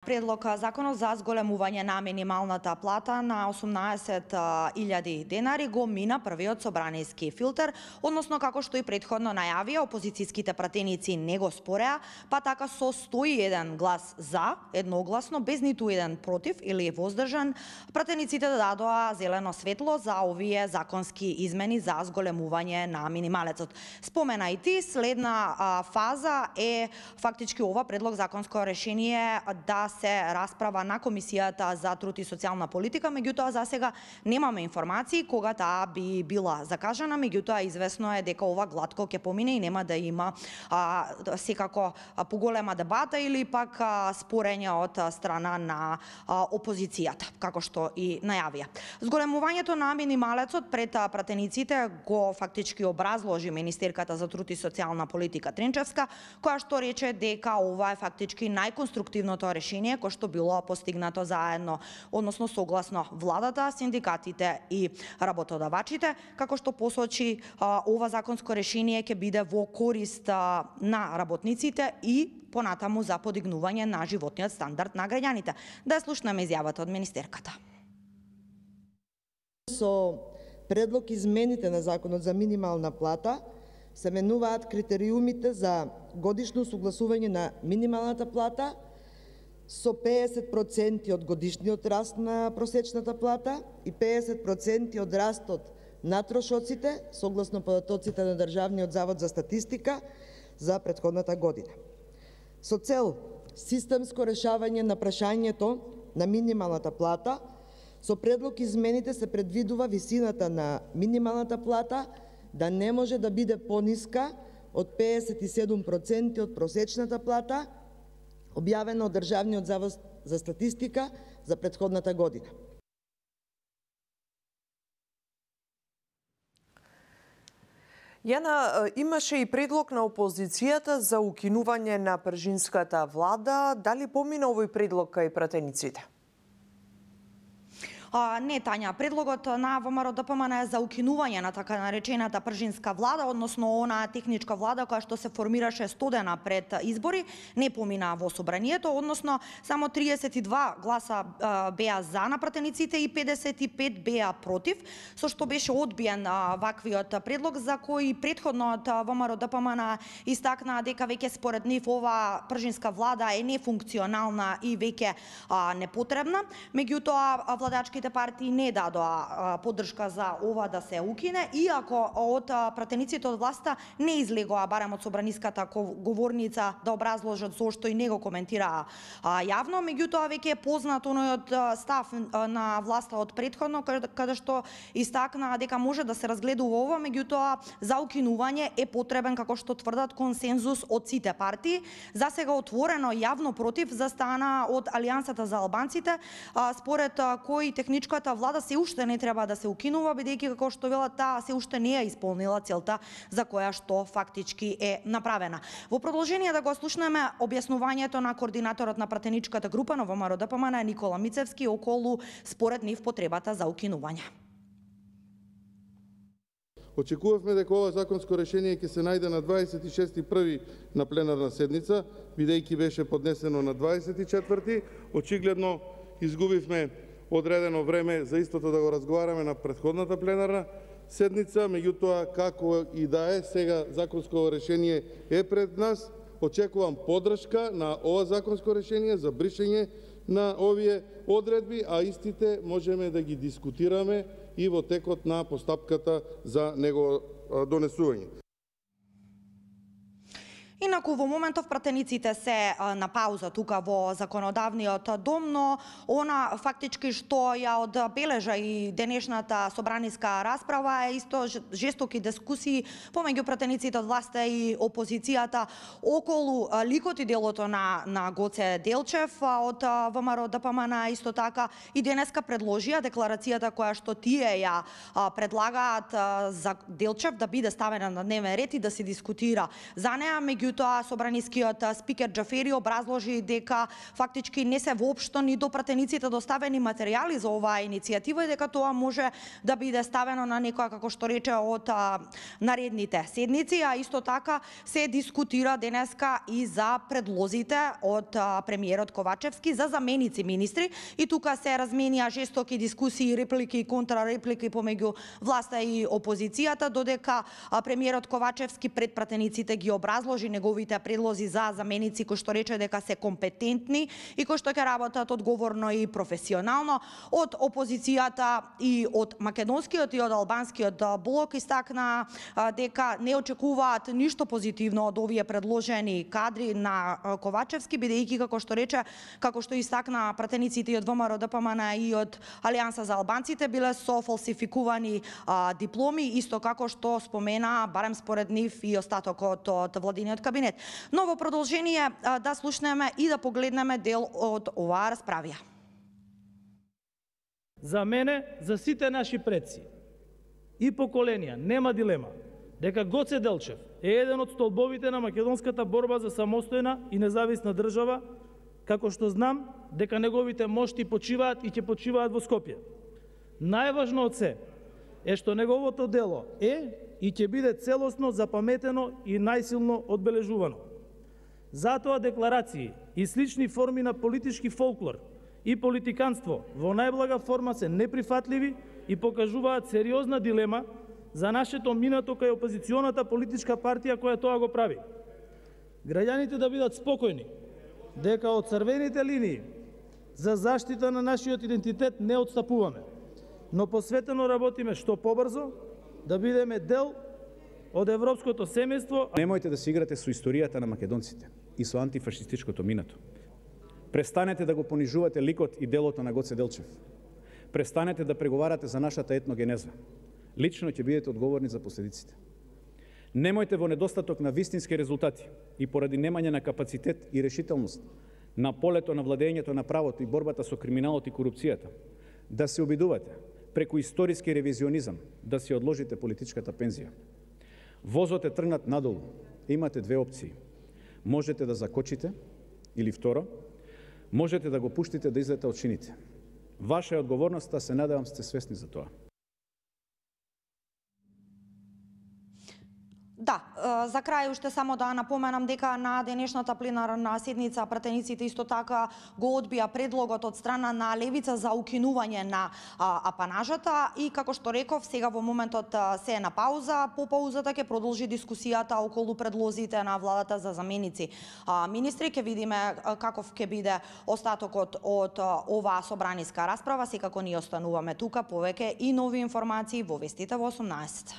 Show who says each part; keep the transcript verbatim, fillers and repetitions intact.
Speaker 1: Предлог законот за зголемување на минималната плата на осумнаесет илјади денари го мина првиот собраниски филтер, односно како што и претходно најавија, опозицијските пратеници не го спореа, па така со сто и еден глас за, едногласно, без ниту еден против или воздржан, пратениците дадоа зелено светло за овие законски измени за зголемување на минималецот. Спомена и ти, следна а, фаза е фактички ова предлог законско решение да се расправа на Комисијата за труд и социјална политика, меѓутоа за сега немаме информации кога таа би била закажана, меѓутоа известно е дека ова глатко ќе помине и нема да има а, секако а, поголема дебата или пак а, спорење од а, страна на а, опозицијата, како што и најавија. Зголемувањето на минималецот пред а, пратениците го фактички образложи министерката за труд и социјална политика Тренчевска, која што рече дека ова е фактички најконструктивното решение кој што било постигнато заедно, односно согласно владата, синдикатите и работодавачите, како што посочи ова законско решение ќе биде во корист на работниците и понатаму за подигнување на животниот стандард на граѓаните. Да ја слушнеме изјавата од министерката.
Speaker 2: Со предлог измените на законот за минимална плата се менуваат критериумите за годишно согласување на минималната плата со пеесет проценти од годишниот раст на просечната плата и пеесет проценти од растот на трошоците, согласно податоците на Државниот завод за статистика за претходната година. Со цел системско решавање на прашањето на минималната плата, со предлог измените се предвидува висината на минималната плата да не може да биде пониска од пеесет и седум проценти од просечната плата, објавено од Државниот завод за статистика за претходната година.
Speaker 3: Јана, имаше и предлог на опозицијата за укинување на пржинската влада. Дали помина овој предлог кај пратениците?
Speaker 1: А, не, Тања, предлогот на ВМРО Д П М Н е за укинување на така наречената пржинска влада, односно она техничка влада која што се формираше сто дена пред избори, не помина во собранието, односно само триесет и два гласа а, беа за на пратениците и педесет и пет беа против, со што беше одбиен а, ваквиот предлог за кој претходно од ВМРО Д П М Н истакна дека веќе според нив ова пржинска влада е нефункционална и веќе а, непотребна. Меѓутоа владачки партии не дадоа поддршка за ова да се укине, иако од пратениците од власта не излегоа барем од собраниската говорница да образложат зошто и не го коментираа јавно, меѓутоа веќе е познат онојот став на власта од претходно, каде што истакна дека може да се разгледува ова, меѓутоа за укинување е потребен, како што тврдат, консензус од сите партии. За сега отворено јавно против застана од Алијансата за албанците, според кој техничката влада се уште не треба да се укинува, бидејќи како што велат таа се уште не ја исполнила целта за која што фактички е направена. Во продолжение да го слушнеме објаснувањето на координаторот на пратеничката група на ВМРО Д П М Н Никола Мицевски околу според нив потребата за укинување.
Speaker 4: Очекувавме дека ова законско решение ќе се најде на дваесет и шести први на пленарна седница, бидејќи беше поднесено на дваесет и четврти. Очигледно изгубивме одредено време за истото да го разговараме на претходната пленарна седница, меѓутоа како и да е, сега законско решение е пред нас. Очекувам поддршка на ова законско решение за бришење на овие одредби, а истите можеме да ги дискутираме и во текот на постапката за него донесување.
Speaker 1: Инаку во моментов пратениците се на пауза тука во законодавниот дом, но она фактички што ја одбележа и денешната собраниска расправа е исто жестоки дискусии помеѓу пратениците од власта и опозицијата околу ликот и делото на на Гоце Делчев од ВМРО Д П М Н. Исто така и денеска предложија декларацијата која што тие ја предлагаат за Делчев да биде ставена на дневен ред и да се дискутира за неа, меѓу меѓутоа собранискиот спикер Џафери образложи дека фактички не се воопшто ни до пратениците доставени материјали за оваа иницијатива и дека тоа може да биде ставено на некоја, како што рече, од а, наредните седници, а исто така се дискутира денеска и за предлозите од а, премиерот Ковачевски за заменици министри и тука се разменија жестоки дискусии, реплики и контрареплики помеѓу власта и опозицијата, додека а, премиерот Ковачевски пред пратениците ги образложи неговите предлози за заменици кои што рече дека се компетентни и кои што ќе работат одговорно и професионално. Од опозицијата и од македонскиот и од албанскиот блок истакна дека не очекуваат ништо позитивно од овие предложени кадри на Ковачевски, бидејќи како што рече, како што истакна пратениците и од ВМРО Д П М Н и од Алијанса за албанците биле со фалсификувани а, дипломи, исто како што спомена, барем според нив, и остатокот од владиниот кабинет. Но во продолжение а, да слушнеме и да погледнеме дел од оваа расправија.
Speaker 5: За мене, за сите наши предци и поколенија, нема дилема дека Гоце Делчев е еден од столбовите на македонската борба за самостојна и независна држава, како што знам дека неговите мошти почиваат и ќе почиваат во Скопје. Најважно од се е што неговото дело е и ќе биде целосно запаметено и најсилно одбележувано. Затоа декларации и слични форми на политички фолклор и политиканство во најблага форма се неприфатливи и покажуваат сериозна дилема за нашето минато кај опозиционата политичка партија која тоа го прави. Граѓаните да бидат спокојни дека од црвените линии за заштита на нашиот идентитет не отстапуваме, но посветено работиме што побрзо да бидеме дел од европското семејство.
Speaker 6: Немојте да се играте со историјата на македонците и со антифашистичкото минато. Престанете да го понижувате ликот и делото на Гоце Делчев. Престанете да преговарате за нашата етногенеза. Лично ќе бидете одговорни за последиците. Немојте во недостаток на вистински резултати и поради немање на капацитет и решителност на полето на владењето на правото и борбата со криминалот и корупцијата да се обидувате преку историски ревизионизам да си одложите политичката пензија. Возот е тргнат надолу. Имате две опции. Можете да закочите или второ, можете да го пуштите да излета од шините. Ваша е одговорноста, се надевам сте свесни за тоа.
Speaker 1: Да, за крај уште само да напоменам дека на денешната пленарна седница пратениците исто така го одбија предлогот од страна на Левица за укинување на апанажата и како што реков, сега во моментот се е на пауза. По паузата ќе продолжи дискусијата околу предлозите на владата за заменици министри. Ќе видиме каков ќе биде остатокот од оваа собраниска расправа. Секако ние остануваме тука, повеќе и нови информации во вестите во осумнаесет.